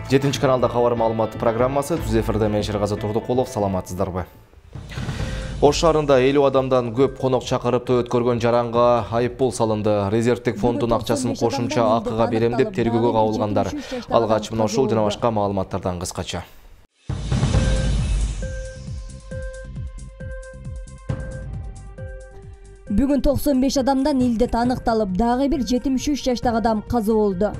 7 каналда кабар маалымат программасы түз эфирде мен Шергазы Турдукулов, саламатсыздарбы? Ош шаарында 50 адамдан көп конок чакырып өткөргөн жаранга айыппул салынды. Резервдик фонддун акчасын кошумча акыга берем деп тергөөгө кабылгандар. Алгач мына ушул жана башка маалыматтардан кыскача. Бүгүн 95 адамдан илдет аныкталып, дагы бир 73 жаштагы адам каза болду.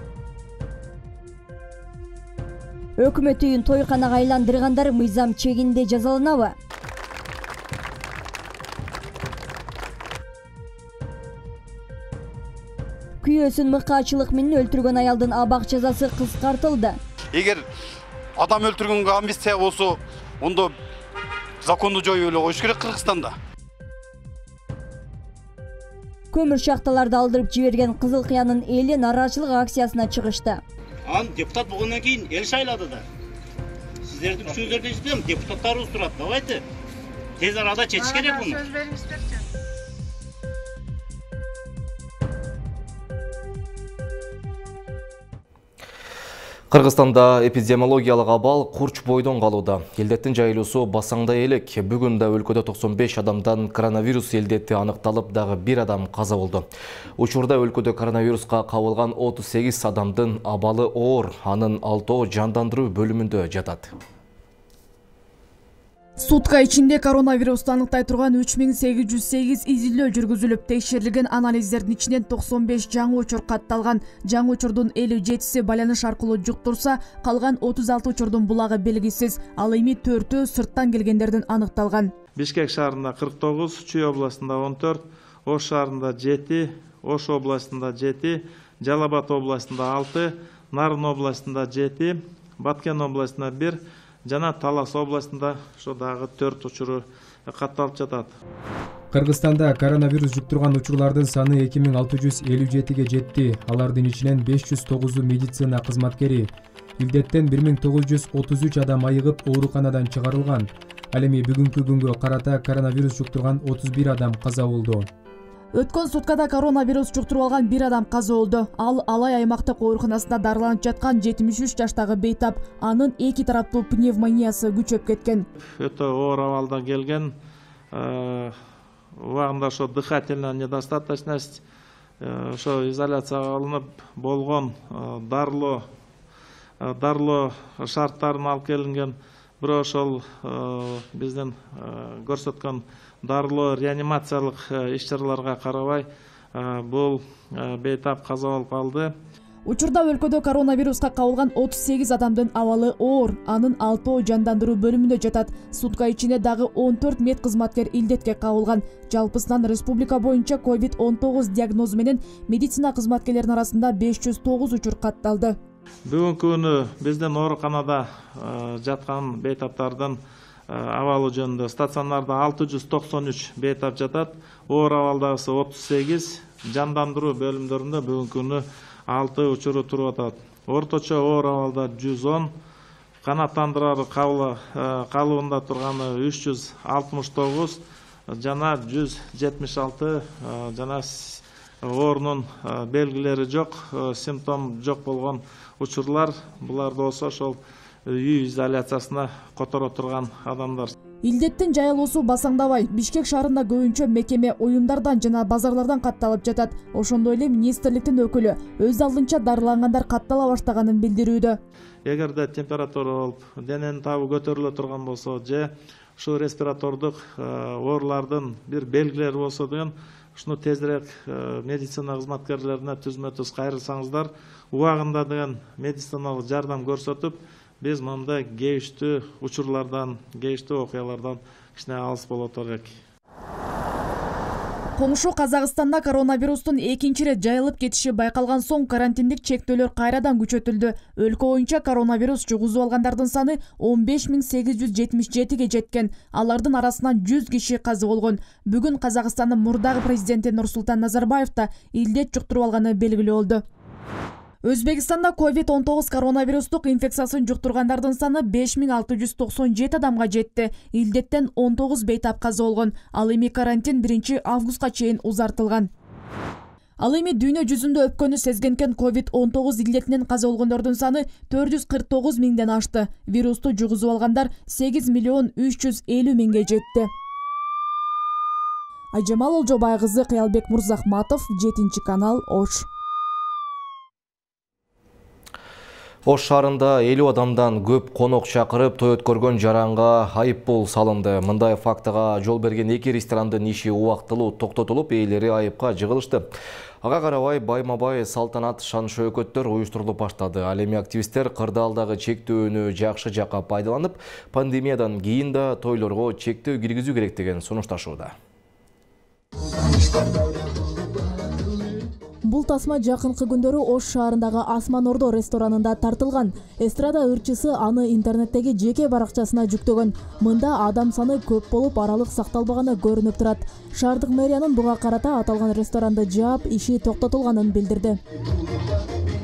Өкмөт үйүн тойканага айландыргандар мыйзам чегинде жазаланабы? Күйөөсүн мыкаачылык менен өлтүргөн аялдын абак жазасы кыскартылды. Эгер адам өлтүргөнгө амнистия болсо, ондо законду жоюп эле коюш керек Кыргызстанда. Көмүр шахталарды алдырып жиберген Кызыл Кыянын эли нааразычылык акциясына чыгышты. Ан депутат болгондон кийин эл шайлады да. Сиздердин күчүңүздөрдөн иштем, депутаттарыбыз турат. Давайте тез арада чечиш керек буну. Кыргызстанда эпидемиологиялык абал курч бойдон калууда. Илдеттин жайылуусу басаңдай элек. Бүгүн да өлкөдө 95 адамдан коронавирус илдети аныкталып, дагы бир адам каза болду. Учурда өлкөдө коронавируска кабылган 38 адамдын абалы оор, анын 6 жандандыруу бөлүмүндө жатат. Сутка ичинде коронавирусту аныктай турган 3808 изилдөө жүргүзүлүп, текшерилген анализдердин ичинен 95 жаңы учур катталган. Жаңы учурдун 57си байланыш аркылуу жуктурса, калган 36 учурдун булагы белгисиз. Ал эми 4-өө сырттан келгендердин аныкталган. Бишкек шаарында 49, Чүй областында 14, Ош шаарында 7, Ош областында 7, Жалал Абад областында 6, Нарын областында 7, Баткен областында 1, жана Талас областында ошо дагы 4 учуру катталып жатат. Кыргызстанда коронавирус жуктурган учурлардын саны 2657ге жетти. Алардын ичинен 509 медицина кызматкери. Илдеттен 1933 адам айыгып ооруканадан чыгарылган. Ал эми бүгүнкү күнгө карата коронавирус жуктурган 31 адам каза болду. Өткөн суткада коронавирус жуктуруп алган бир адам каза болду. Ал Алай аймактык ооруканасында дарыланып жаткан 73 жаштагы бейтап. Анын 2 тараптуу пневмониясы күчөп кеткен. Өтө оор абалда келген, убагында ошо дыхательная недостаточность, ошо изоляцияга алынып болгон дарылоо шарттарын алып келинген. Бирок ошол биздин көрсөткөн дарылоо реанимациялык иш-чараларга карабай бул бейтап каза болуп калды. Учурда өлкөдө коронавируска кабылган 38 адамдын абалы оор, анын 6 жандандыруу бөлүмүндө жатат. Сутка ичинде дагы 14 мед кызматкер илдетке кабылган. Жалпысынан республика боюнча COVID-19 диагнозу менен медицина кызматкерлеринин арасында 509 учур катталды. Бүгүнкү күнү биздин ооруканада жаткан бейтаптардын абалы жөнүндө стационарда 693 бейтап жатат, оор абалдагысы 38, жандандыруу бөлүмдөрүндө бүгүнкү күнү 6 учуру туруп атат. Орточо оор абалда 110, канааттандырары калыбында турганы 369 жана 176 жана оорунун белгилери жок, симптом жок болгон учурлар. Булар болсо ошол үй изоляциясына которо турган адамдар. Илдеттин жайылуусу басаңдабай, Бишкек шаарында көбүнчө мекеме оюндардан жана базарлардан катталып жатат. Ошондой эле министрликтин өкүлү өз алдынча дарылангандар каттала баштаганын билдирүүдө. Эгерде температура болуп, дененин табы көтөрүлө турган болсо же ушу респиратордук оорулардын бир белгилери болсо деген, ушуну тезирээк медицина кызматкерлерине түзмө-түз кайрылсаңыздар, убагында деген медициналык жардам көрсөтүп, биз мындай кейиштүү учурлардан, кейиштүү окуялардан кичине алыс боло турат. Комушу Казакстанда коронавирустун экинчи ирет жайылып кетиши байкалган соң карантиндик чектөөлөр кайрадан күчөтүлдү. Өлкө боюнча коронавирус жугузуп алгандардын саны 15877ге жеткен. Алардын арасынан 100 киши каза болгон. Бүгүн Казакстандын мурдагы президенти Нурсултан Назарбаев да илдет жуктуруп алганы белгилүү болду. Өзбекстанда COVID-19 коронавирустук инфекциясын жуктургандардын саны 5697 адамга жетти. Илдеттен 19 бейтап каза болгон. Ал эми карантин 1 августка чейин узартылган. Ал эми дүйнө жүзүндө өпкөнү сезгенкен COVID-19 илдетинен каза болгондордун саны 449 миңден ашты. Вирусту жугузуп алгандар 8 миллион 350 миңге жетти. Айжамал Олжобай кызы, Кыялбек Мурзахматов, 7 канал, Ош. Ош шаарында 50 адамдан көп конок чакырып той өткөргөн жаранга айыппул салынды. Мындай фактыга жол берген 2 ресторандын иши убактылуу токтотулуп, ээлери айыпка жыгылышты. Ага карабай байма-бай салтанат шан-шөөкөттөр уюштурулуп баштады. Ал эми активисттер кырдаалдагы чектөөнү жакшы жакка пайдаланып, пандемиядан кийин да тойлорго чектөө киргизүү керек деген сунушташууда. Бул тасма жакынкы күндөрү Ош шаарындагы Асман Ордо ресторанында тартылган. Эстрада ырчысы аны интернеттеги жеке баракчасына жүктөгөн. Мында адам саны көп болуп, аралык сакталбаганы көрүнүп турат. Шаардык мэриянын буга карата аталган ресторанды жаап, иши токтотулганын билдирди.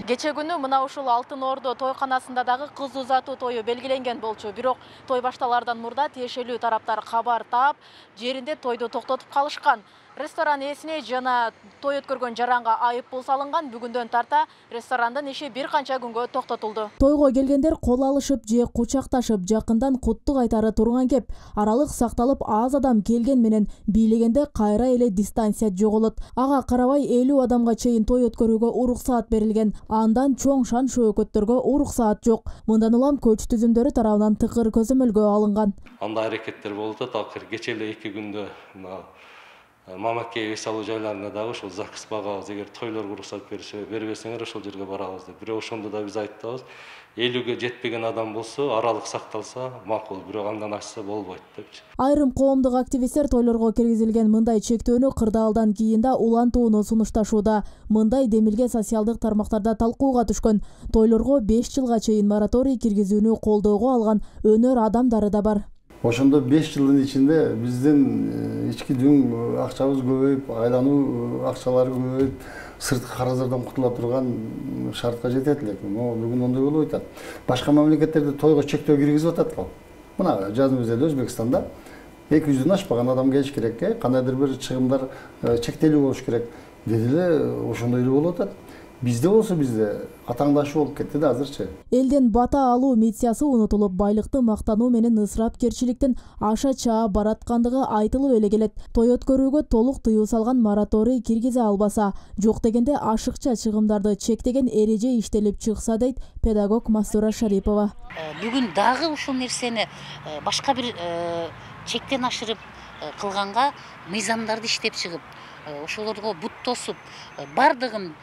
Кече күнү мына ушул Алтын Ордо тойканасында дагы кыз узатуу тою белгиленген болчу. Бирок той башталардан мурда тиешелүү тараптар кабар таап, жеринде тойду токтотуп калышкан. Ресторан ээсине жана той өткөргөн жаранга айыппул салынган. Бүгүндөн тарта ресторандын иши бир канча күнгө токтотулду. Тойго келгендер кол алышып же кучакташып, жакындан куттук айтары турган кеп. Аралык сакталып, аз адам келген менен бийлегенде кайра эле дистанция жоголот. Ага карабай 50 адамга чейин той өткөрүүгө уруксаат берилген. Андан чоң шан-шөөкөттөргө уруксаат жок. Мындан улам көч түзүмдөрү тарабынан тыкыр көзөмөлгө алынган. Андай аракеттер болуп атат. Кече эле 2 күндө Мамакей эс алуу жайларында дагы ошол ЗАГС багабыз, эгер тойлорго уруксат бербесеңер ошол жерге барабыз деп. Бирок ошондо да биз айтабыз, 50ге жетпеген адам болсо, аралык сакталса макул, бирок андан ашса болбойт депчи. Айрым коомдук активисттер тойлорго киргизилген мындай чектөөнү кырдаалдан кийин да улантууну сунушташууда. Мындай демилге социалдык тармактарда талкууга түшкөн. Тойлорго 5 жылга чейин мораторий киргизүүнү колдоого алган өнөр адамдары да бар. Ошондо 5 жылдын ичинде биздин ички дүң акчабыз көбөйүп, айлануу акчалары көбөйүп, сырткы карыздардан кутула турган шартка жетет элек. Бүгүн ондой болуп атат. Башка мамлекеттерде тойго чектөө киргизип атат го. Мына жазымызда Өзбекстанда 200дөн ашпаган адам келиш керек, кандайдыр бир чыгымдар чектелүү болуш керек. Деди эле ошондой эле болуп атат. Бизде болсо атаңдашуу болуп кетти да азырчы. Элден бата алуу миссиясы унутулуп, байлыкты мактануу менен ысырапкерчиликтин аша чаа бараткандыгы айтылып эле келет. Той өткөрүүгө толук тыюу салган мораторий киргизе албаса, жок дегенде ашыкча чыгымдарды чектеген эреже иштелип чыкса дейт педагог Мастура Шарипова. Бүгүн дагы ушул нерсени башка бир чектен ашырып кылганга мыйзамдарды иштеп чыгып, ошолорго бут тосуп, бардыгын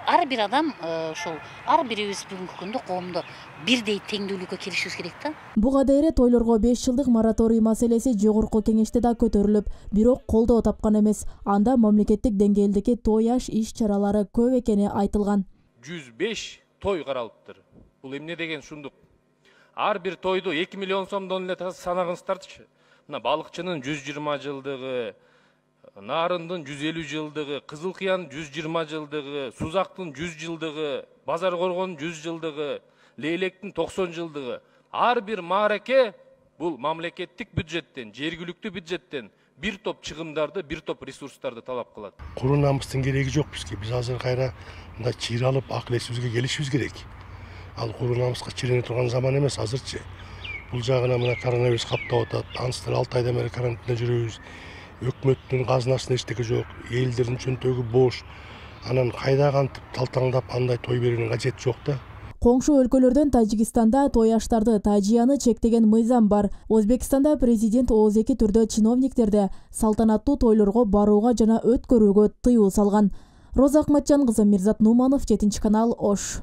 ар бир адам ошол ар бирибиз бүгүнкү күндө коомдо бирдей теңдүүлүккө киришибиз керек да. Буга дейре тойлорго 5 жылдык мораторий маселеси жогорку кеңеште да көтөрүлүп, бирок колдоо тапкан эмес. Анда мамлекеттик деңгээлдеги той аш иш-чаралары көп экени айтылган. 105 той каралыптыр. Бул эмне деген шундук? Ар бир тойду 2 миллион сомдон эле санагыңыздарчы. Мына балыкчынын 120 жылдыгы, Нарындын 150 жылдыгы, Кызыл Кыян 120 жылдыгы, Сузактын 100 жылдыгы, Базар Коргон 100 жылдыгы, Лейлектин 90 жылдыгы. Ар бир маареке бул мамлекеттик бюджеттен, жергиликтүү бюджеттен бир топ чыгымдарды, бир топ ресурстарды талап кылат. Куру намыстын кереги жок бизге. Биз азыр кайра мындай чыйралып, акыл эсибизге келишибиз керек. Ал куру намыска чирене турган заман эмес азырчы. Бул жагына мына коронавирус каптап атат. Аныстыр 6 айдан бери карантинде жүрөбүз. Өкмөттүн казынасына эчтеке жок, элдердин чөнтөгү бош. Анан кайда кантип талтаңдап андай той берүүнүн кажети жок да. Коңшу өлкөлөрдөн Тажикстанда той аштарды тажияны чектеген мыйзам бар. Өзбекстанда президент ооз-эки түрдө чиновниктерди салтанаттуу тойлорго барууга жана өткөрүүгө тыюу салган. Роза Акматжан кызы, Мирзат Нуманов, 7 канал, Ош.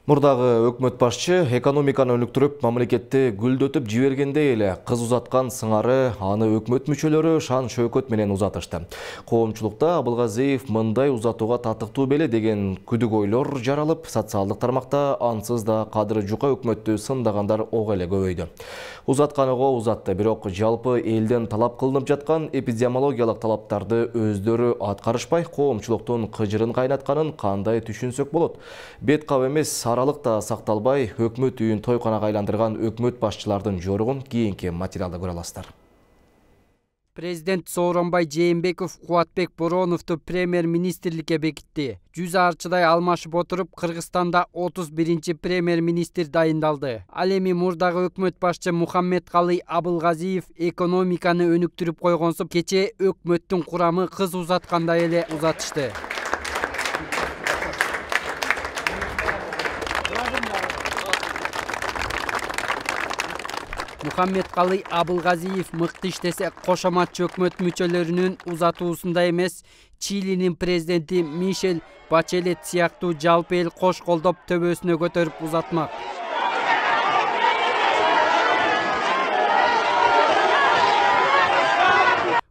Мурдагы өкмөт башчы экономиканы өнүктүрүп, мамлекетти гүлдөтүп жибергендей эле кыз узаткан сыңары аны өкмөт мүчөлөрү шан-шөөкөт менен узатышты. Коомчулукта Абылгазиев мындай узатууга татыктуу беле деген күдүк ойлор жаралып, социалдык тармакта ансыз да кадыры жука өкмөттү сындагандар ого эле көбөйдү. Узатканыга узатты, бирок жалпы элден талап кылынып жаткан эпидемиологиялык талаптарды өздөрү аткарышпай, коомчулуктун кыжырын кайнатканын кандай түшүнсөк болот. Бет кап эмес, аралыкта сакталбай, өкмөт үйүн тойканага айландырган өкмөт башчылардын жоругун кийинки материалда көрө аласыздар. Президент Сооронбай Жээнбеков Кубатбек Бороновду премьер-министрликке бекитти. 100 арчыдай алмашып отуруп, Кыргызстанда 31-чи премьер-министр дайындалды. Ал эми мурдагы өкмөт башчы Мухаммедкалый Абылгазиев экономиканы өнүктүрүп койгонсуп, кече өкмөттүн курамы кыз узаткандай эле узатышты. Мухаммедкалый Абылгазиев мыкты иштесе кошоматчы өкмөт мүчөлөрүнүн узатуусунда эмес, Чилинин президенти Мишель Бачелет сыяктуу жалпы эл кош колдоп төбөсүнө көтөрүп узатмак.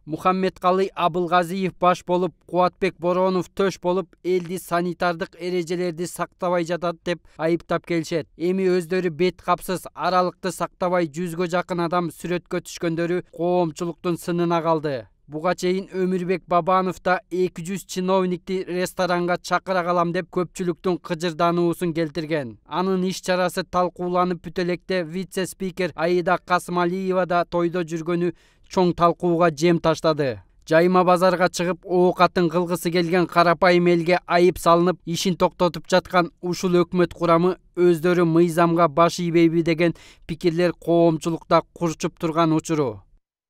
Мухаммедкалый Абылгазиев баш болуп, Кубатбек Боронов төш болуп, элди санитардык эрежелерди сактабай жатат деп айыптап келишет. Эми өздөрү бет капсыз, аралыкты сактабай 100гө жакын адам сүрөткө түшкөндөрү коомчулуктун сынына калды. Буга чейин Өмүрбек Бабанов да 200 чиновникти ресторанга чакыра калам деп көпчүлүктүн кыжырдануусун келтирген. Анын иш чарасы талкууланып бүтө электе вице-спикер Аида Касымалиева да тойдо жүргөнү чоң талкууга жем таштады. Жайма базарга чыгып, оокатын кылгысы келген карапайым элге айып салынып, ишин токтотуп жаткан ушул өкмөт курамы өздөрү мыйзамга баш ийбейби деген пикирлер коомчулукта курчуп турган учуру.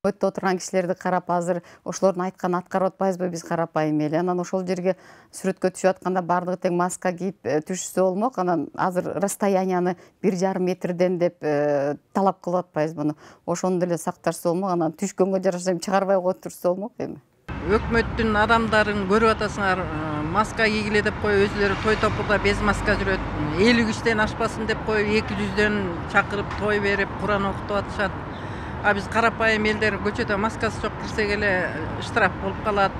Өттө отурган кишилерди карап, азыр ошолордун айтканын аткарып атпайбызбы биз карапайым эл. Анан ошол жерге сүрөткө түшүп атканда бардыгы тең маска кийип түшүшсө болмок. Анан азыр расстоянияны 1,5 метрден деп талап кылып атпайбызбы? Ошону деле сакташса болмок. Анан түшкөнгө жараша чыгарбай коюп турса болмок эми. Өкмөттүн адамдарын көрүп атасыңар, маска кийгиле деп коюп, өзүлөрү той топурда без маска жүрөт. 50 кишиден ашпасын деп коюп, 200дөн чакырып той берип, Куран окутуп атышат. А биз карапайым элдер көчөдө маскасы жок кирсек эле штраф болуп калат.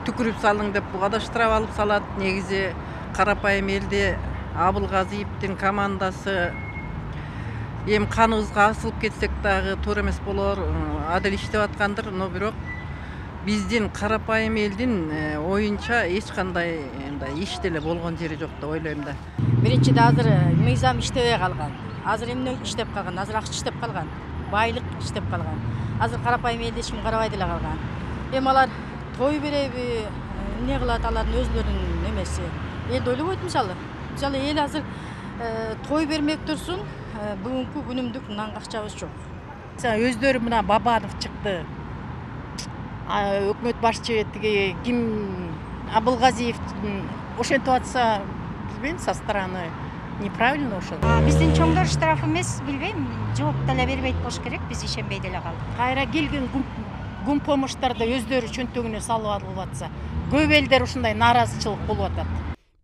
Түкүрүп салың деп буга да штраф алып салат. Негизи карапайым элди Абылгазиевдин командасы эми каныбызга асылып кетсек дагы туура эмес болор, адил иштеп аткандыр, но бирок биздин карапайым элдин оюнча эч кандай иш деле болгон жери жок деп ойлойм да. Биринчиде азыр мыйзам иштебей калган. Азыр эмне иштеп калган? Азыр акча иштеп калган. Байлык иштеп калган. Азыр карапайым элди эч ким карабай деле калган. Эми алар той береби, эмне кылат алардын өзлөрүнүн эмеси. Элди ойлобойт мисалы. Мисалы эл азыр той бермек турсун, бүгүнкү күнүмдүк нанга акчабыз жок. Өздөрү мына Бабанов чыкты. Өкмөт башчы тиги ким Абылгазиев ошентип атса, билбейм, со стороны неправильно ошол. Биздин чоңдор штраф эмес, билбейм, жооп деле бербейт болуш керек, биз ишенбей деле калдык. Кайра келген гум помощтарды өздөрү чөнтөгүнө салып алып атса, көп элдер ушундай нааразычылык болуп атат.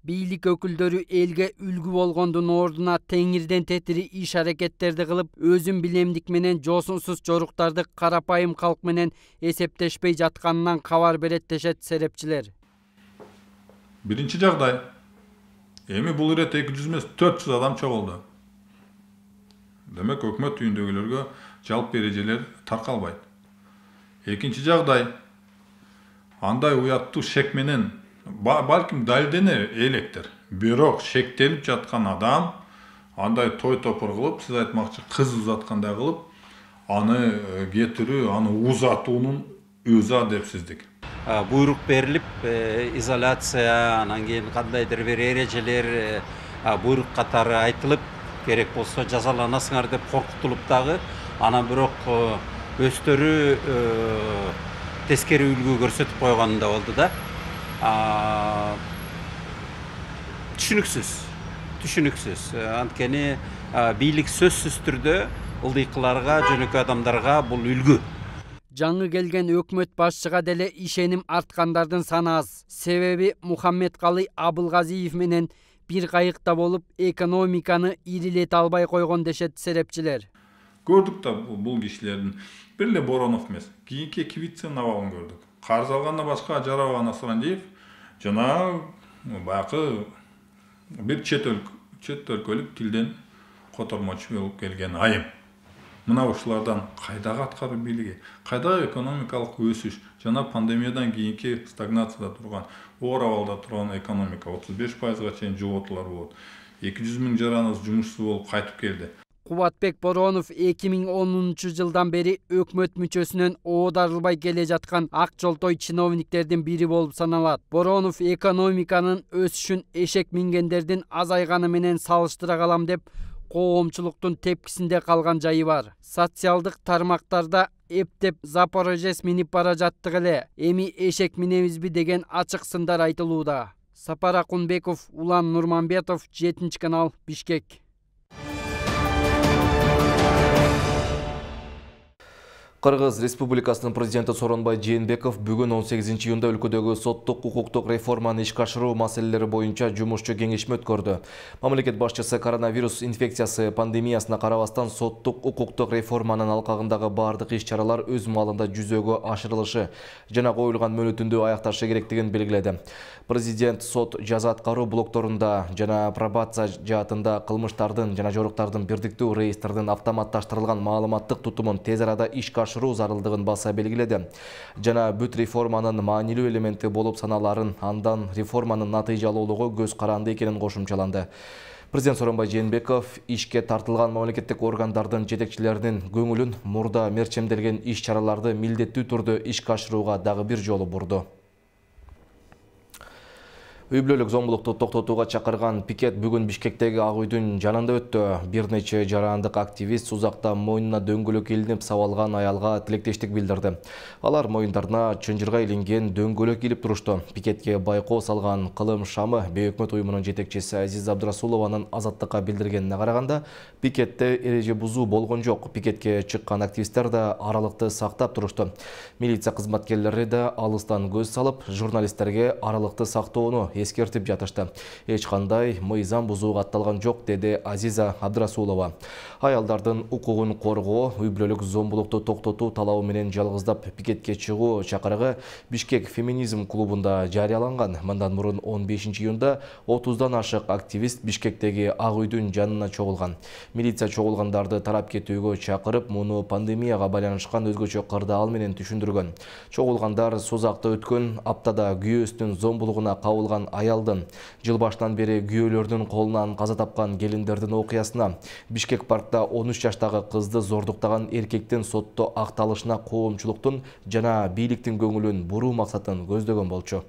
Бийлик өкүлдөрү элге үлгү болгондун ордуна теңирден тетири иш-аракеттерди кылып, өзүн билемдик менен жосунсуз жоруктарды карапайым калк менен эсептешпей жатканынан кабар берет дешет серепчилер. Биринчи жагдай, эми бул ирет 200 эмес 400 адам чогулду. Демек өкмөт үйүндөгүлөргө жалпы эрежелер таркалбайт. Экинчи жагдай, андай уяттуу шек менен балким далилдене электир. Бирок шектелип жаткан адам андай той топур кылып, сиз айтмакчы кыз узаткандай кылып, аны кетирүү, аны узатуунун өзү адепсиздик. Буйрук берилип, изоляция, анан кийин кандайдыр бир эрежелер буйрук катары айтылып, керек болсо жазаланасыңар деп коркутулуп дагы, анан бирок өздөрү тескери үлгү көрсөтүп койгон да болду да. Түшүнүксүз. Анткени бийлик сөзсүз түрдө ылдыйкыларга, жөнөкөй адамдарга бул үлгү. Жаңы келген өкмөт башчыга деле ишеним арткандардын саны аз. Себеби Мухаммедкалый Абылгазиев менен бир кайыкта болуп, экономиканы ирилете албай койгон дешет серепчилер. Көрдүк да бул кишилердин бир эле Боронов эмес, кийинки Кивиценин абалын көрдүк. Карыз алгандан башка Жарабаган Асрандиев жана баягы бир чет өлкөлүк тилден котормочу болуп келген айым. Мына ушулардан кайдагы аткаруу бийлиги, кайдагы экономикалык өсүш жана пандемиядан кийинки стагнацияда турган, оор абалда турган экономика 35%га чейин жоготуулар болот. 200 000 жараныбыз жумушсуз болуп кайтып келди. Кубатбек Боронов 2010 жылдан бери өкмөт мүчөсүнөн оодарылбай келе жаткан ак жолтой чиновниктердин бири болуп саналат. Боронов экономиканын өсүшүн эшек мингендердин азайганы менен салыштыра калам деп коомчулуктун тепкисинде калган жайы бар. Социалдык тармактарда эптеп Запорожец минип бара жаттык эле, эми эшек минебизби деген ачык сындар айтылууда. Сапар Акунбеков, Улан Нурманбетов, 7 канал, Бишкек. Кыргыз Республикасынын президенти Сооронбай Жээнбеков бүгүн 18 июнда өлкөдөгү соттук укуктук реформаны ишке ашыруу маселелери боюнча жумушчу кеңешме өткөрдү. Мамлекет башчысы коронавирус инфекциясы пандемиясына карабастан соттук укуктук реформанын алкагындагы бардык иш-чаралар өз маалында жүзөгө ашырылышы жана коюлган мөөнөтүндө аякташы керектигин белгиледи. Президент сот жаза аткаруу блокторунда жана пробация жаатында кылмыштардын жана жоруктардын бирдиктүү реестрдин автоматташтырылган маалыматтык тутумун тез арада ишке ашыруу зарылдыгын баса белгиледи. Жана бүт реформанын маанилүү элементи болуп саналарын, андан реформанын натыйжалуулугу көз каранды экенин кошумчаланды. Президент Сооронбай Жээнбеков ишке тартылган мамлекеттик органдардын жетекчилеринин көңүлүн мурда мерчемделген иш-чараларды милдеттүү түрдө ишке ашырууга дагы бир жолу бурду. Үй бүлөлүк зомбулукту токтотууга чакырган пикет бүгүн Бишкектеги Ак үйдүн жанында өттү. Бир нече жарандык активист узакта мойнуна дөңгөлөк илинип сабалган аялга тилектештик билдирди. Алар мойундарына чынжырга илинген дөңгөлөк илип турушту. Пикетке байкоо салган Кылым Шамы бейөкмөт уюмунун жетекчиси Азиз Абдрасулованын Азаттыкка билдиргенине караганда, пикетте эреже бузуу болгон жок. Пикетке чыккан активисттер да аралыкты сактап турушту. Милиция кызматкерлери да алыстан көз салып, журналисттерге аралыкты сактоону эскертип жатышты. Эч кандай мыйзам бузууга атталган жок, деди Азиза Абдрасулова. Аялдардын укугун коргоо, үй бүлөлүк зомбулукту токтотуу талабы менен жалгыздап пикетке чыгуу чакырыгы Бишкек феминизм клубунда жарыяланган. Мындан мурун 15 июнда 30дан ашык активист Бишкектеги Ак үйдүн жанына чогулган. Милиция чогулгандарды тарап кетүүгө чакырып, муну пандемияга байланышкан өзгөчө кырдаал менен түшүндүргөн. Чогулгандар созакта өткөн аптада күйөөсүнүн зомбулугуна кабылган аялдын, жыл башынан бери күйөөлөрдүн колунан каза тапкан келиндердин окуясына, Бишкек паркта 13 жаштагы кызды зордуктаган эркектин сотто акталышына коомчулуктун жана бийликтин көңүлүн буруу максатын көздөгөн болчу.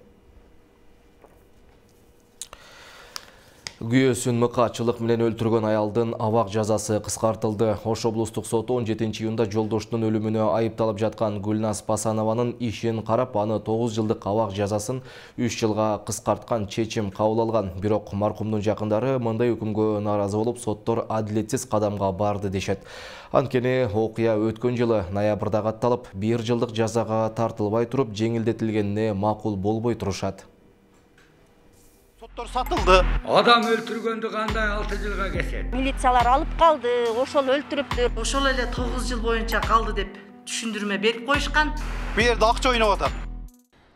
Күйөөсүн мыкаачылык менен өлтүргөн аялдын абак жазасы кыскартылды. Ош облустук соту 17 июнда жолдошунун өлүмүнө айыпталып жаткан Гүлназ Пасанованын ишин карап, аны 9 жылдык абак жазасын 3 жылга кыскарткан чечим кабыл алган. Бирок маркумдун жакындары мындай өкүмгө нааразы болуп, соттор адилетсиз кадамга барды дешет. Анткени окуя өткөн жылы ноябрда катталып, 1 жылдык жазага тартылбай туруп, жеңилдетилгенине макул болбой турушат. Соттор сатылды. Адам өлтүргөндү кандай 6 жылга кесет? Милициялар алып калды, ошол өлтүрүптүр. Ошол эле 9 жыл боюнча калды деп түшүндүрмө берип коюшкан. Бу жерде акча ойноп атат.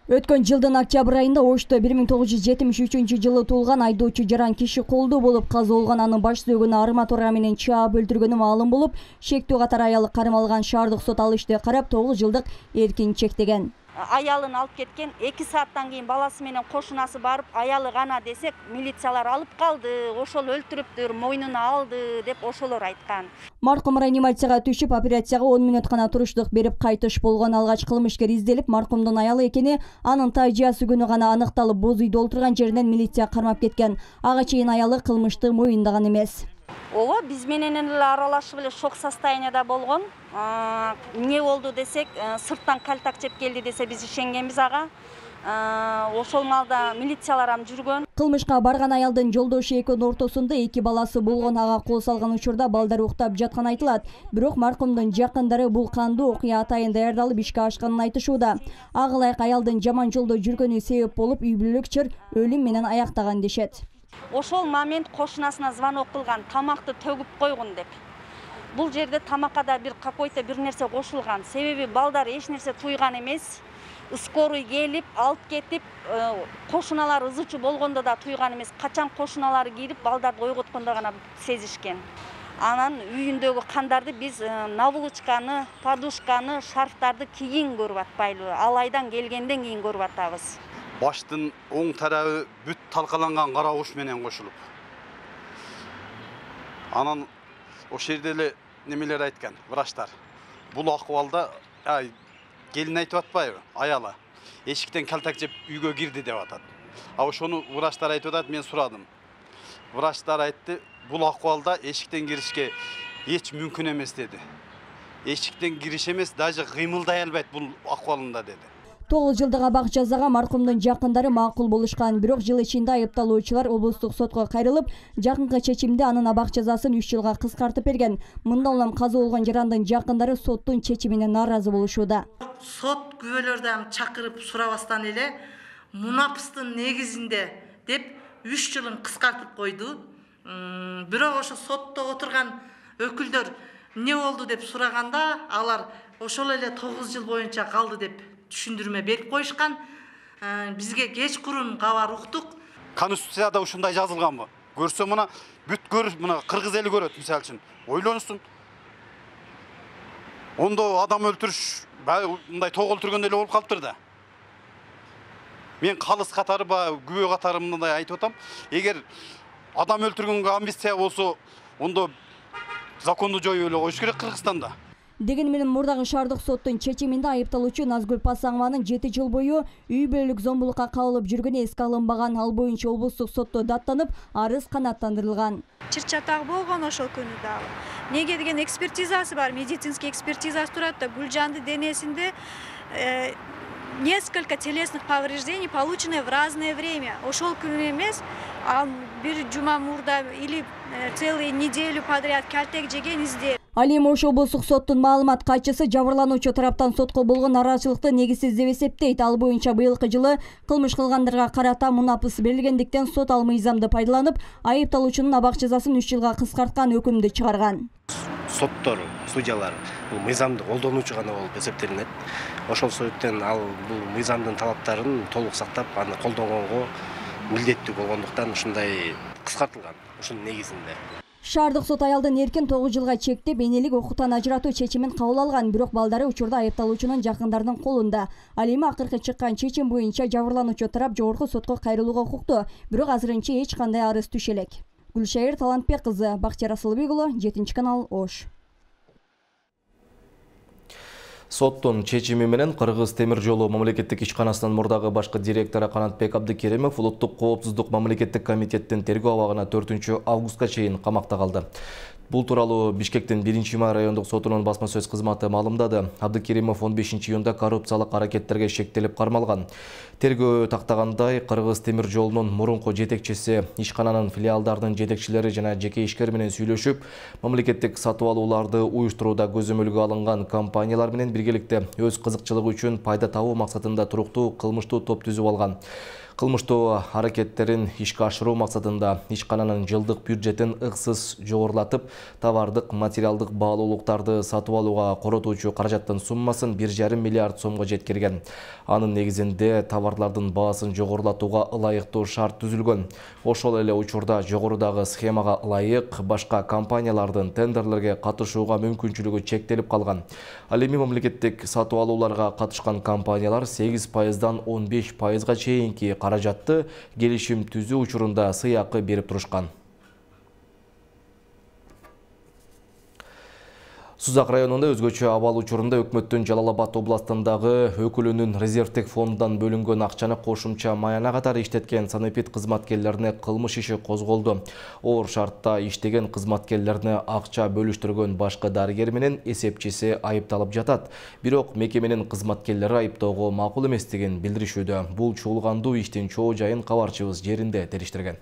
Өткөн жылдын октябрь айында Ошто 1973 жылы туулган айдоочу жаран киши колдоо болуп каза болгон. Анын баш сөөгүнө арматура менен чаап өлтүргөнү маалым болуп, шектүү катар аялы кармалган. Шаардык сот ал ишти карап 9 жылдык эркин чектеген. Аялын алып кеткен, 2 сааттан кийин баласы менен кошунасы барып, аялы гана десек, милициялар алып калды, ошол өлтүрүптүр, мойнуна алды деп ошолор айткан. Маркум реанимацияга түшүп, операцияга 10 мүнөт гана туруштук берип кайтыш болгон. Алгач кылмышкер изделип, маркумдун аялы экени анын тажыясы күнү гана аныкталып, боз үйдө олтурган жеринен милиция кармап кеткен. Ага чейин аялы кылмышты моюндаган эмес. Ооба, биз менен эле аралашып эле шок состоянияда болгон. Эмне болду десек, сырттан кальтак жеп келди десе биз ишенгенбиз ага. Ошол маалда милициялар жүргөн. Кылмышка барган аялдын жолдошу экөөнүн ортосунда 2 баласы болгон. Ага кол салган учурда балдар уктап жатканы айтылат. Бирок маркумдун жакындары бул кандуу окуя атайын даярдалып ишке ашканын айтышууда. Ага ылайык аялдын жаман жолдо жүргөнү себеп болуп, үй бүлөлүк чыр өлүм менен аяктаган дешет. Ошол момент кошунасына звонок кылган, тамакты төгүп койгун деп. Бул жерде тамакка да какой-то бир нерсе кошулган. Себеби балдар эч нерсе туйган эмес. Скорый келип, алып кетип, кошуналар ызычуу болгондо да туйган эмес. Качан кошуналары кирип, балдарды ойготкондо гана сезишкен. Анан үйүндөгү кандарды биз наволочканы, подушканы, шарфтарды кийин көрүп атпайлы. Алайдан келгенден кийин көрүп атабыз. Баштын оң тарабы бүт талкаланган кара уш менен кошулуп. Анан ошол жерде эле немелер айткан, врачтар. Бул акыбалда келин айтып атпайбы, аялы. Эшиктен калтак жеп үйгө кирди деп атат. Ошону врачтар айтып атат, мен сурадым. Врачтар айтты, бул акыбалда эшиктен киришке эч мүмкүн эмес деди. Эшиктен кириш эмес, даже кыймылдай албайт бул акыбалында деди. 9 жылдык абак жазага маркумдун жакындары макул болушкан, бирок жыл ичинде айыпталуучулар облустук сотко кайрылып, жакынкы чечимде анын абак жазасын 3 жылга кыскартып берген. Мындан улам каза болгон жарандын жакындары соттун чечимине нааразы болушууда. Сот күбөлөрдөн чакырып сурабастан эле мунапыстын негизинде деп 3 жылын кыскартып койду. Бирок ошо сотто отурган өкүлдөр эмне болду деп сураганда, алар ошол эле 9 жыл боюнча калды деп түшүндүрмө берип коюшкан. Бизге кечкурун кабар уктук. Конституцияда ушундай жазылганбы? Көрсө мына бүт көрүп, мына кыргыз эли көрөт мисалы үчүн. Ойлонсун. Ондо адам өлтүрүш мындай тоо өлтүргөндөй эле болуп калыптыр да. Мен калыс катары күбө катары мындай айтып атам. Эгер адам өлтүргөнгө амнистия болсо, ондо законду жоюп эле коюш керек Кыргызстанда. Деген менен мурдагы шаардык соттун чечиминде айыпталуучу Назгүл Пасаңованын 7 жыл бою үй бүлөлүк зомбулукка кабылып жүргөнү эске алынбаган, ал боюнча облустук сотто даттанып, арыз канааттандырылган. Чыр-чатак болгон ошол күнү дагы. Неге деген экспертизасы бар, медицинский экспертизасы турат да, Гүлжанды денесинде несколько телесных повреждений, полученные в разное время. Ошол күнү эмес, бир жума мурда или целую неделю подряд калтек жеген изде. Ал эми ошол облустук соттун маалымат катчысы жабырлануучу тараптан сотко болгон нараазычылыкты негизсиз деп эсептейт. Ал боюнча быйылкы жылы кылмыш кылгандарга карата мунапыс берилгендиктен сот ал мыйзамды пайдаланып, айыпталуучунун абак жазасын 3 жылга кыскарткан өкүмдү чыгарган. Соттор, судьялар бул мыйзамды колдонуучу гана болуп эсептелинет. Ошол себептен ал бул мыйзамдын талаптарын толук сактап, аны колдонгонго милдеттүү болгондуктан ушундай кыскартылган. Ушунун негизинде Шаардык сот аялдын эркин 9 жылга чектеп, энелик окуктан ажыратуу чечимин кабыл алган, бирок балдары учурда айыпталуучунун жакындарынын колунда. Ал эми акыркы чыккан чечим боюнча жабырлануучу тарап жогорку сотко кайрылууга укуктуу, бирок азырынча эч кандай арыз түшө элек. Гүлшайыр Талантбек кызы, Бактияр Асылбек уулу, 7-канал, Ош. Соттун чечими менен Кыргыз темир жолу мамлекеттик ишканасынын мурдагы башкы директору Канатбек Абдыкеримов улуттук коопсуздук мамлекеттик комитеттин тергөө абагына 4 августка чейин камакта калды. Бул тууралуу Бишкектин 1-май райондук сотунун басма сөз кызматы маалымдады. Абдыкеримов 15-июнда коррупциялык аракеттерге шектелип кармалган. Тергөө тактагандай, Кыргыз темир жолунун мурунку жетекчиси, ишкананын филиалдарынын жетекчилери жана жеке ишкер менен сүйлөшүп, мамлекеттик сатып алууларды уюштурууда көзөмөлгө алынган компаниялар менен биргеликте өз кызыкчылыгы үчүн пайда табуу максатында туруктуу кылмыштуу топ түзүп алган. Кылмыштуу аракеттерин ишке ашыруу максатында ишкананын жылдык бюджетин ыксыз жогорулатып, товардык, материалдык баалуулуктарды сатып алууга коротуучу каражаттын суммасын 1,5 миллиард сомго жеткирген. Анын негизинде товарлардын баасын жогорулатууга ылайыктуу шарт түзүлгөн. Ошол эле учурда жогорудагы схемага ылайык башка компаниялардын тендерлерге катышууга мүмкүнчүлүгү чектелип калган. Ал эми мамлекеттик сатып алууларга катышкан компаниялар 8%дан 15%га чейинки каражатты келишим түзүү учурунда сыйакы берип турушкан. Сузак районунда өзгөчө абал учурунда өкмөттүн Жалал Абад областындагы өкүлүнүн резервдик фонддон бөлүнгөн акчаны кошумча маяна катары иштеткен санэпид кызматкерлерине кылмыш иши козголду. Оор шартта иштеген кызматкерлерине акча бөлүштүргөн башкы дарыгер менен эсепчиси айыпталып жатат. Бирок мекеменин кызматкерлери айыптоого макул эместигин билдиришүүдө. Бул чуулгандуу иштин чоо жайын кабарчыбыз жеринде териштирген.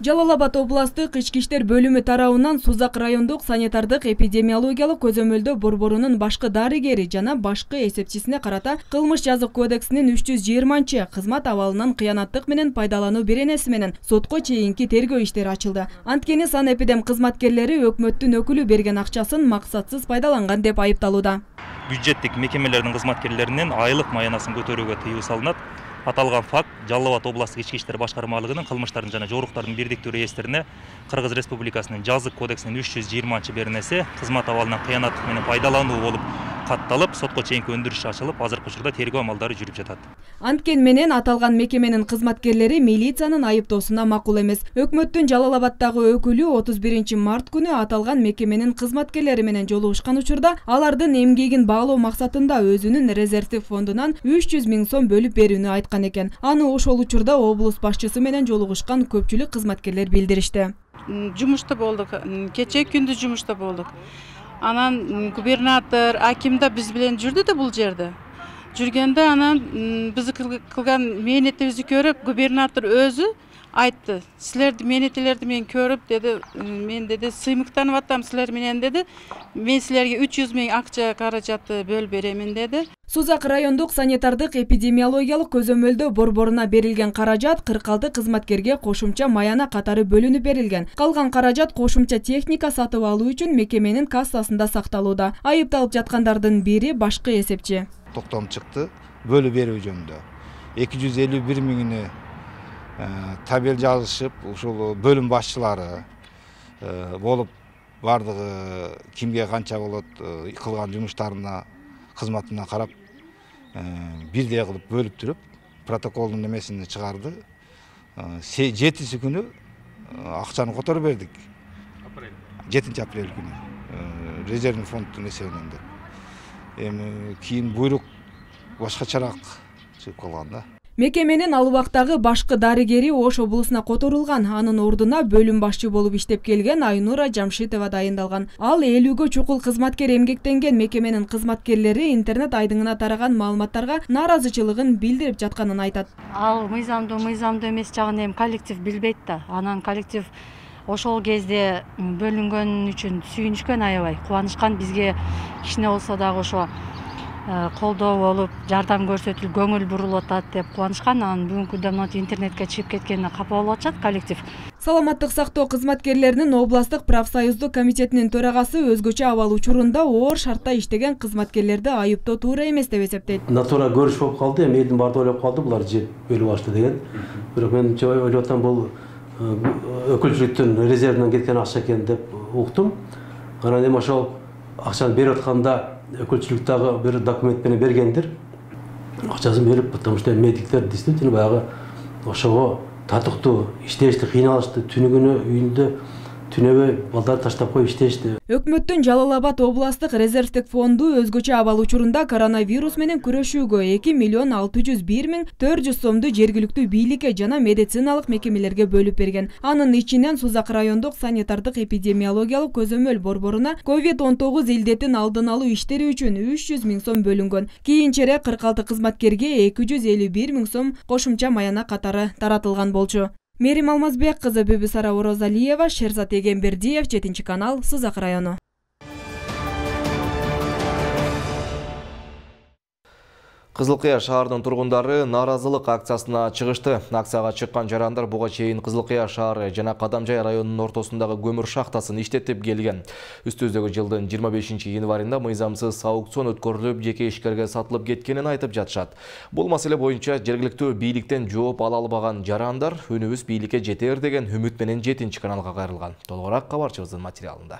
Жалал Абад областык ички иштер бөлүмү тарабынан Сузак райондук санитардык эпидемиологиялык көзөмөлдөө борборунун башкы дарыгери жана башкы эсепчисине карата кылмыш жазык кодексинин 320 кызмат абалынан кыянаттык менен пайдалануу беренеси менен сотко чейинки тергөө иштери ачылды. Анткени санэпидем кызматкерлери өкмөттүн өкүлү берген акчасын максатсыз пайдаланган деп айыпталууда. Бюджеттик мекемелердин кызматкерлеринин айлык маянасын көтөрүүгө тыюу салынат. Аталган факт Жалал Абад областык ички иштер башкармалыгынын кылмыштардын жана жоруктардын бирдиктүү реестрине Кыргыз Республикасынын жазык кодексинин 320 беренеси кызмат абалынан кыянаттык менен пайдалануу болуп катталып, сотко чейинки өндүрүш ачылып, азыркы учурда тергөө амалдары жүрүп жатат. Анткени менен аталган мекеменин кызматкерлери милициянын айыптоосуна макул эмес. Өкмөттүн Жалал Абаддагы өкүлү 31 март күнү аталган мекеменин кызматкерлери менен жолугушкан учурда алардын эмгегин баалоо максатында өзүнүн резервдик фондунан 300 000 сом бөлүп берүүнү айткан экен. Аны ошол учурда облус башчысы менен жолугушкан көпчүлүк кызматкерлер билдиришти. Жумушта болдук, кечээ күндүз жумушта болдук. Анан губернатор, аким да биз менен жүрдү да бул жерде. Жүргөндө анан биз кылган мээнетибизди көрүп, губернатор өзү айтты. Силерди мээнеттерди мен көрүп деди, мен деди сыймыктанып атам силер менен деди. Мен силерге 300 000 акча каражатты бөлүп беремин деди. Сузак райондук санитардык эпидемиологиялык көзөмөлдөө борборуна берилген каражат 46 кызматкерге кошумча маяна катары бөлүнүп берилген. Калган каражат кошумча техника сатып алуу үчүн мекеменин кассасында сакталууда. Айыпталып жаткандардын бири башкы эсепчи. Токтом чыкты, бөлүп берүү жөнүндө 251 миңини табел жазышып, ушул бөлүм башчылары болуп бардыгы кимге канча болот кылган жумуштарына кызматына карап бирдей кылып бөлүп туруп протоколдун немесини чыгарды. 7 күнү акчаны которуп бердик. 7 апрель күнү резервный фонддун эсебинен деп. Эми кийин буйрук башкачараак чыгып калган да. Мекеменин ал убактагы башкы дарыгери Ош облусуна которулган. Анын ордуна бөлүм башчы болуп иштеп келген Айнура Жамшитова дайындалган. Ал 50гө чукул кызматкер эмгектенген. Мекеменин кызматкерлери интернет айдыңына тараган маалыматтарга нааразычылыгын билдирип жатканын айтат. Ал мыйзамдуу эмес жагын эми коллектив билбейт да. Анан коллектив ошол кезде бөлүнгөн үчүн сүйүнүшкөн, аябай кубанышкан. Бизге кичине болсо дагы ошо колдоо болуп, жардам көрсөтүлүп, көңүл бурулуп атат деп кубанышкан. Анан бүгүнкү күндө интернетке чыгып кеткенине капа болуп атышат коллектив. Саламаттык сактоо кызматкерлеринин областык профсоюздук комитетинин төрагасы өзгөчө абал учурунда оор шартта иштеген кызматкерлерди айыптоо туура эмес деп эсептейт. Натура көрүш болуп калды, эми элдин баары ойлоп калды, булар жеп бөлүп алышты деген. Бирок мен ойлоп атам, бул өкүлчүлүктүн резервинен кеткен акча экен деп уктум. Анан эми ошол акчаны берип атканда өкүлчүлүк дагы бир документ менен бергендир. Акчасын берип, потому что медиктер действительно баягы ошого татыктуу иштешти, кыйналышты. Түнү күнү үйүндө түнөбөй балдар таштап коюп иштешти. Өкмөттүн Жалал Абад областык резервдик фонду өзгөчө абал учурунда коронавирус менен күрөшүүгө 2 601 400 сомду жергиликтүү бийликке жана медициналык мекемелерге бөлүп берген. Анын ичинен Сузак райондук санитардык эпидемиологиялык көзөмөл борборуна COVID-19 илдетин алдын алуу иштери үчүн 300 000 сом бөлүнгөн. Кийинчерээк 46 кызматкерге 251 000 сом кошумча маяна катары таратылган болчу. Мерим Алмазбек кызы Бибисара Орозалиева, Шерзат Эгембердиев, 7 канал, Сузак району. Кызыл Кыя шаарынын тургундары нааразылык акциясына чыгышты. Акцияга чыккан жарандар буга чейин Кызыл Кыя шаары жана Кадамжай районунун ортосундагы көмүр шахтасын иштетип келген. Үстүбүздөгү жылдын 25 январында мыйзамсыз аукцион өткөрүлүп, жеке ишкерге сатылып кеткенин айтып жатышат. Бул маселе боюнча жергиликтүү бийликтен жооп ала албаган жарандар үнүбүз бийликке жетер деген үмүт менен 7 каналга кайрылган. Толугураак кабарчыбыздын материалында.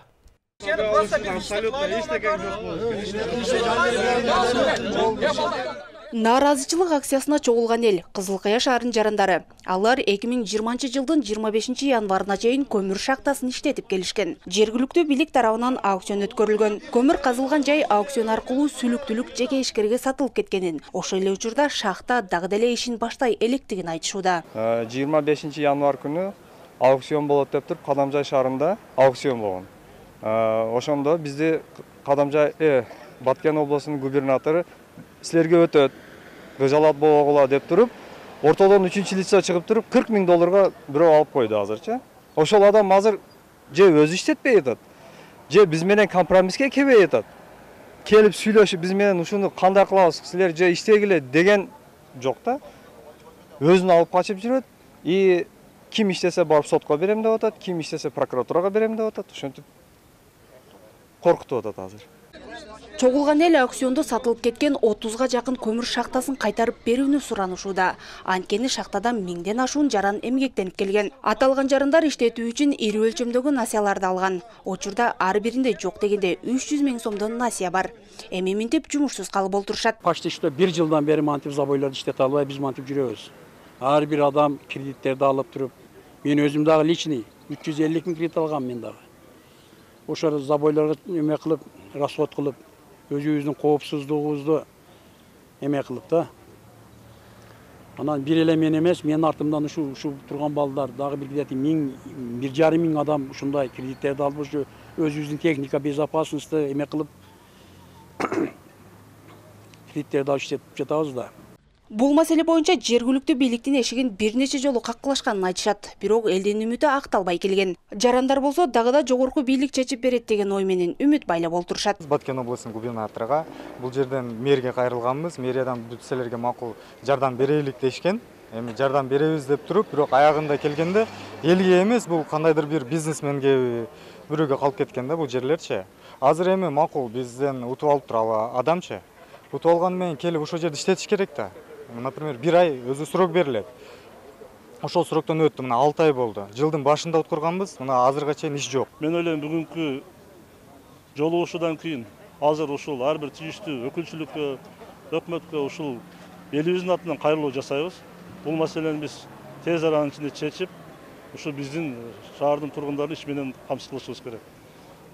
Нааразычылык акциясына чогулган эл Кызыл Кыя шаарынын жарандары. Алар 2020 жылдын 25 январына чейин көмүр шахтасын иштетип келишкен. Жергиликтүү бийлик тарабынан аукцион өткөрүлгөн. Көмүр казылган жай аукцион аркылуу сүлүктүүлүк жеке ишкерге сатылып кеткенин, ошол эле учурда шахта дагы деле ишин баштай электигин айтышууда. 25 январ күнү аукцион болот деп туруп Кадамжай шаарында аукцион болгон. Ошондо бизди Кадамжай Баткен облусунун губернатору силерге өтөт, кыжалат болгула деп туруп, ортодон 3-чү лица чыгып туруп, $40 000 бирөө алып койду азырча. Ошол адам азыр же өзү иштетпей атат, же биз менен компромисске келбей атат. Келип сүйлөшүп, биз менен ушуну кандай кылабыз, силер же иштегиле деген жок да. Өзүн алып качып жүрөт. И ким иштесе барып сотко берем деп атат, ким иштесе прокуратурага берем деп атат. Ошентип коркутуп атат азыр. Чогулган эл аукциондо сатылып кеткен 30га жакын көмүр шахтасын кайтарып берүүнү суранышууда. Анткени шахтадан 1000ден ашуун жаран эмгектенип келген. Аталган жарандар иштетүү үчүн ири өлчөмдөгү насыяларды алган. Учурда ар биринде жок дегенде 300 000 сомдон насыя бар. Эми минтип жумушсуз калып олтурушат. Почти что 1 жылдан бери мантип забойлорду иштете албай биз мантип жүрөбүз. Ар бир адам кредиттерди алып туруп, мен өзүм дагы личный 350 000 кредит алгам мен дагы. Ошол забойлорго эме кылып, расход кылып, өзүбүздүн коопсуздугубузду эме кылып да. Анан бир эле мен эмес, менин артымдан ушу турган балдар дагы бир где-то 1,5 миң адам ушундай кредиттерди алып ушу өзүбүздүн техника безопасности эме кылып кредиттерди алып иштетип жатабыз да. Бул маселе боюнча жергиликтүү бийликтин эшигин бир нече жолу каккылашканын айтышат, бирок элдин үмүтү акталбай келген. Жарандар болсо дагы жогорку бийлик чечип берет деген ой менен үмүт байлап олтурушат. Баткен областынын губернаторуга бул жерден мэрге кайрылганбыз, мэриядан бүт силерге макул жардам берелик дешкен. Эми жардам беребиз деп туруп, бирок аягында келгенде элге эмес, бул кандайдыр бир бизнесменге бирөөгө калып кеткен да бул жерлерчи. Азыр эми макул бизден утуп алып турабы адамчы. Утуп алган менен келип ошол жерде иштетиш керек да. Например, 1 ай өзү срок берилет. Ошол сроктон өттү, мына 6 ай болду. Жылдын башында уткурганбыз, мына азырга чейин иш жок. Мен ойлойм, бүгүнкү жолугушуудан кийин азыр ушул ар бир тийиштүү өкүлчүлүккө, өкмөткө ушул элибиздин атынан кайрылуу жасайбыз. Бул маселени биз тез аранын ичинде чечип, ушу биздин шаардын тургундарын иш менен камсыз кылышыбыз керек.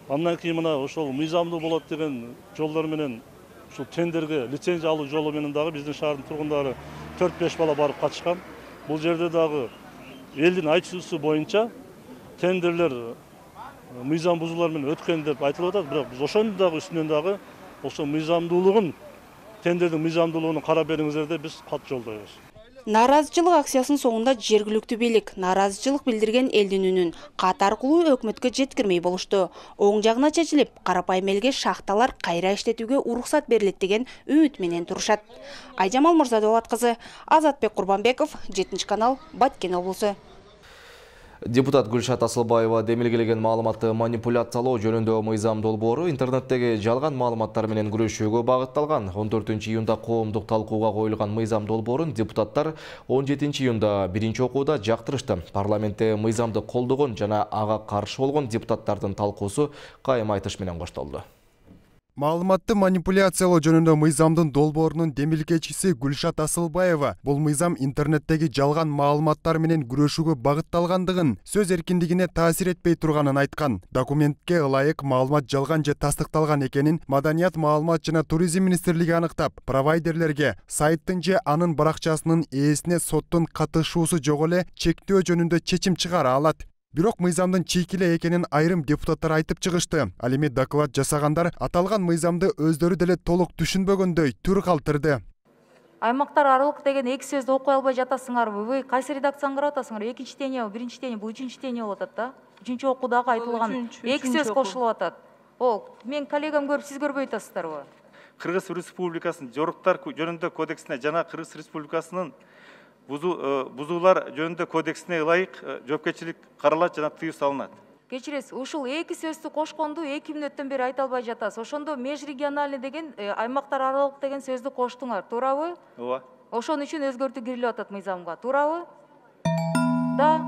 Андан кийин мына ошол мыйзамдуу болот деген жолдор менен ушул тендерге лицензия алуу жолу менен дагы биздин шаардын тургундары 4-5 бала барып катышкан. Бул жерде дагы элдин айтуусу боюнча тендерлер мыйзам бузуулар менен өткөн деп айтылып атат, бирок биз ошонун дагы үстүнөн дагы ошо мыйзамдуулугун, тендердин мыйзамдуулугун карап бериңиздер деп биз кат жолдойбуз. Нааразычылык акциясынын соңунда жергиликтүү бийлик нааразычылык билдирген элдин үнүн кат аркылуу өкмөткө жеткирмей болушту. Оң жагына чечилип, карапайым элге шахталар кайра иштетүүгө уруксат берилет деген үмүт менен турушат. Айжамал Мырзадолат кызы, Азатбек Курбанбеков, 7-канал, Баткен облусу. Депутат Гүлшат Асылбаева демилгелеген маалыматты манипуляциялоо жөнүндө мыйзам долбоору интернеттеги жалган маалыматтар менен күрөшүүгө багытталган. 14 июнда коомдук талкууга коюлган мыйзам долбоорун депутаттар 17 июнда биринчи окууда жактырышты. Парламентте мыйзамды колдогон жана ага каршы болгон депутаттардын талкуусу кайым айтыш менен коштолду. Маалыматты манипуляциялоо жөнүндө мыйзамдын долбоорунун демилгечиси Гүлшат Асылбаева бул мыйзам интернеттеги жалган маалыматтар менен күрөшүүгө багытталгандыгын, сөз эркиндигине таасир этпей турганын айткан. Документке ылайык маалымат жалган же тастыкталган экенин Маданият, маалымат жана туризм министрлиги аныктап, провайдерлерге сайттын же анын баракчасынын ээсине соттун катышуусу жок эле чектөө жөнүндө чечим чыгара алат. Бирок мыйзамдын чийкиле экенин айрым депутаттар айтып чыгышты. Ал эми доклад жасагандар аталган мыйзамды өздөрү деле толук түшүнбөгөндөй түр калтырды. Аймактар аралык деген эки сөздү окуй албай жатасыңарбы? Вы кайсы редакцияны карап атасыңар? Экинчи чтение, биринчи чтение, бул үчүнчү чтение болуп атат да. Үчүнчү окуудагы айтылган эки сөз кошулуп атат. Ол мен коллегам көрүп, сиз көрбөй атасыздарбы? Кыргыз Республикасынын жоруктар жөнүндө кодексине жана Кыргыз Республикасынын бузуулар жөнүндө кодексине ылайык жоопкерчилик каралат жана тыюу салынат. Кечиресиз, ушул эки сөздү кошконду 2 мүнөттөн бери айта албай жатасыз. Ошондо межрегиональный деген аймактар аралык деген сөздү коштуңар, туурабы? Ооба. Ошон үчүн өзгөртүү кирилип атат мыйзамга, туурабы? Да.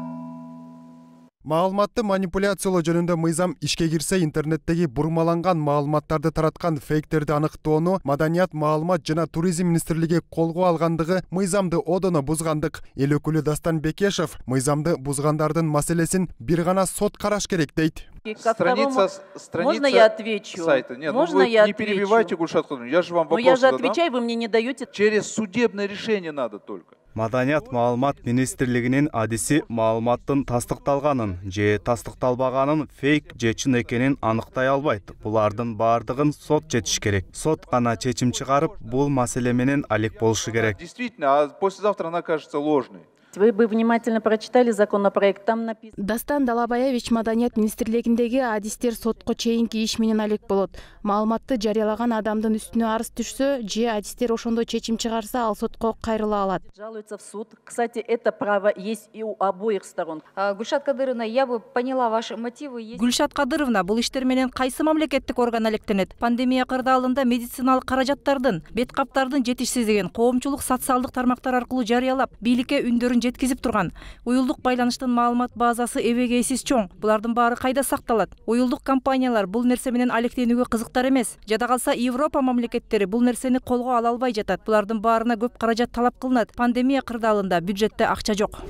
Маалыматты манипуляциялоо жөнүндө мыйзам ишке кирсе, интернеттеги бурмаланган маалыматтарды тараткан фейктерди аныктоону Маданият, маалымат жана туризм министрлиги колго алгандыгы мыйзамды одоно бузгандык. Эл өкүлү Дастан Бекешев мыйзамды бузгандардын маселесин бир гана сот караш керек дейт. Страница Можно я отвечу? Сайта. Нет, Можно вы я не отвечу? перебивайте, Гульшат Кудровна, я же вам вопрос я же задам. отвечаю, вы мне не даете. Через судебное решение надо только. Маданият, маалымат министрлигинин адиси маалыматтын тастыкталганын же тастыкталбаганын фейк же чын экенин аныктай албайт. Булардын баардыгын сот чечиш керек. Сот гана чечим чыгарып, бул маселе менен алек болушу керек. Действительно, а послезавтра она кажется ложной. Вы бы внимательно прочитали законопроект, там написано. Дастан Далабаевич Маданият министрлигиндеги адистер сотко чейинки иш менен алек болот. Маалыматты жарыялаган адамдын үстүнө арыз түшсө, же адистер ошондой чечим чыгарса, ал сотко кайрыла алат. Жалуются в суд. Кстати, это право есть и у обоих сторон. Гүлшат Кадыровна, я бы поняла ваши мотивы. Гүлшат Кадыровна, бул иштер менен кайсы мамлекеттик орган алектенет? Пандемия кырдаалында медициналык каражаттардын, бет каптардын жетишсиздигин коомчулук социалдык тармактар аркылуу жарыялап, бийликке үндөрүн жеткизип турган. Уюлдук байланыштын маалымат базасы эбегейсиз чоң. Булардын баары кайда сакталат? Уюлдук компаниялар бул нерсе менен алектенүүгө кызыктар эмес. Жада калса Европа мамлекеттери бул нерсени колго ала албай жатат. Булардын баарына көп каражат талап кылынат. Пандемия кырдаалында бюджетте акча жок.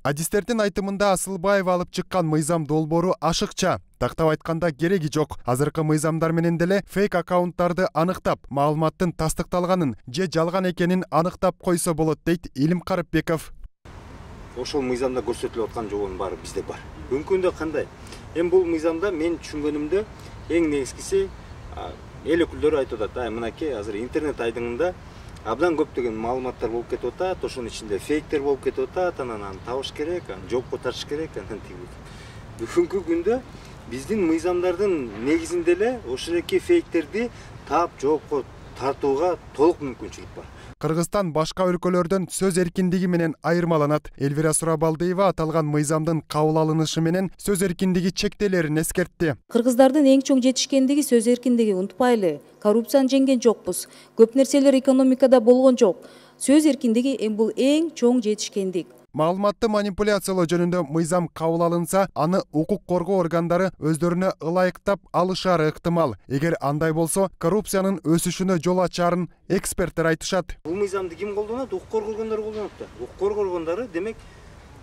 Адистердин айтымында Асылбаева алып чыккан мыйзам долбоору ашыкча. Тактап айтканда кереги жок. Азыркы мыйзамдар менен деле фейк аккаунттарды аныктап, маалыматтын тастыкталганын же жалган экенин аныктап койсо болот, дейт Илим Карыпбеков. Ошол мыйзамда көрсөтүлүп аткан жобонун баары бизде бар. Бүгүнкү күндө кандай? Эми бул мыйзамда мен түшүнгөнүмдө эң негизгиси эл өкүлдөрү айтып атат, мынакей азыр интернет айдыңында абдан көптөгөн маалыматтар болуп кетип атат, ошонун ичинде фейктер болуп кетип атат, анан аны табыш керек, аны жокко тартыш керек, анан тиги. Бүгүнкү күндө биздин мыйзамдардын негизинде эле ошол эки фейктерди таап жоопко тартууга толук мүмкүнчүлүк бар. Кыргызстан башка өлкөлөрдөн сөз эркиндиги менен айырмаланат. Элвира Сурабалдиева аталган мыйзамдын кабыл алынышы менен сөз эркиндиги чектелерин эскертти. Кыргыздардын эң чоң жетишкендиги сөз эркиндиги, унутпайлы. Коррупцияны жеңген жокпуз. Көп нерселер экономикада болгон жок. Сөз эркиндиги бул эң чоң жетишкендик. Маалыматты манипуляциялоо жөнүндө мыйзам кабыл алынса, аны укук коргоо органдары өздөрүнө ылайыктап алышары ыктымал. Эгер андай болсо, коррупциянын өсүшүнө жол ачарын эксперттер айтышат. Бул мыйзамды ким колдонот? Укук коргоо органдары колдонот да. Укук коргоо органдары демек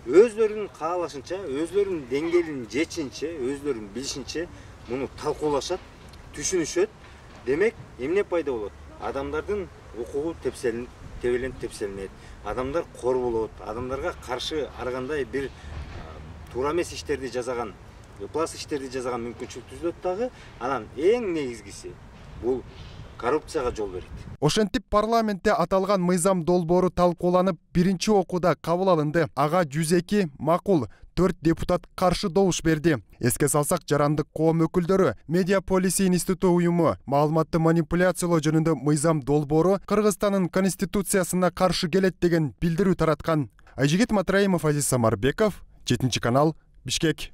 өздөрүнүн каалашынча, өздөрүнүн деңгээлин жечинче, өздөрүнүн билишинче муну талкуулашат, түшүнүшөт. Демек, эмне пайда болот? Адамдардын укугу тепселенет. Адамдар корболот, адамдарга каршы ар кандай бир туура эмес иштерди жасаган, ыплас иштерди жасаган мүмкүнчүлүк түзүлөт дагы. Анан эң негизгиси бул коррупцияга жол берет. Ошентип парламентте аталган мыйзам долбоору талкууланып, биринчи окууда кабыл алынды. Ага 102 макул, 4 депутат каршы добуш берди. Эске салсак, жарандык коом өкүлдөрү, Медиа Полиси институту уюму маалыматты манипуляциялоо жөнүндө мыйзам долбоору Кыргызстандын конституциясына каршы келет деген билдирүү тараткан. Айжигит Матраимов, Азиз Самарбеков, 7 канал, Бишкек.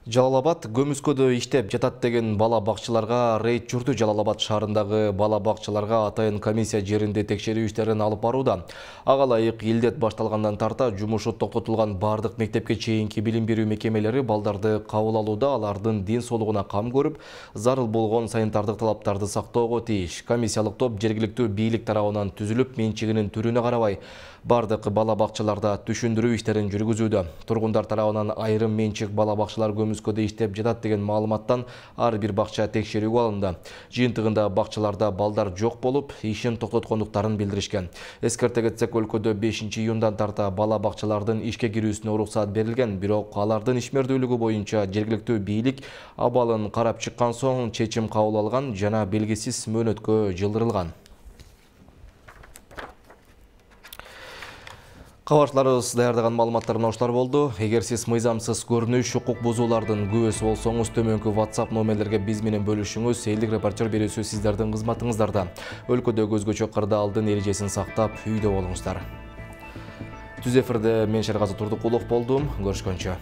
Жалал-Абад көмүскөдө иштеп жатат деген бала бакчыларга рейд жүрдү. Жалал-Абад шаарындагы бала бакчыларга атайын комиссия жеринде текшерүү иштерин алып барууда. Ага ылайык илдет башталгандан тарта жумушу токтотулган бардык мектепке чейинки билим берүү мекемелери балдарды кабыл алууда, алардын ден соолугуна кам көрүп, зарыл болгон санитардык талаптарды сактоого тийиш. Комиссиялык топ жергиликтүү бийлик тарабынан түзүлүп, менчигинин түрүнө карабай бардык бала бакчыларда түшүндүрүү иштерин жүргүзүүдө. Тургундар тарабынан айрым менчик бала бакчылар көмүскөдө иштеп жатат деген маалыматтан ар бир бакча текшерүүгө алынды. Жыйынтыгында бакчаларда балдар жок болуп, ишин токтоткондуктарын билдиришкен. Эскерте кетсек, өлкөдө 5-июндан тарта бала бакчалардын ишке кирүүсүнө уруксат берилген, бирок алардын ишмердүүлүгү боюнча жергиликтүү бийлик абалын карап чыккан соң чечим кабыл алган жана белгисиз мөөнөткө жылдырылган. Кабарчыларыбыз даярдаган маалыматтар ушулар болду. Эгер сиз мыйзамсыз көрүнүш, укук бузуулардын күбөсү болсоңуз, төмөнкү WhatsApp номерлерге биз менен бөлүшүңүз. Элдик репортер берүүсү сиздердин кызматыңыздарда. Өлкөдө көзгөчө кырдаалдын эрежесин сактап, үйдө болуңуздар. Түз эфирде мен Шергазы Турдукулов болдум. Көрүшкөнчө.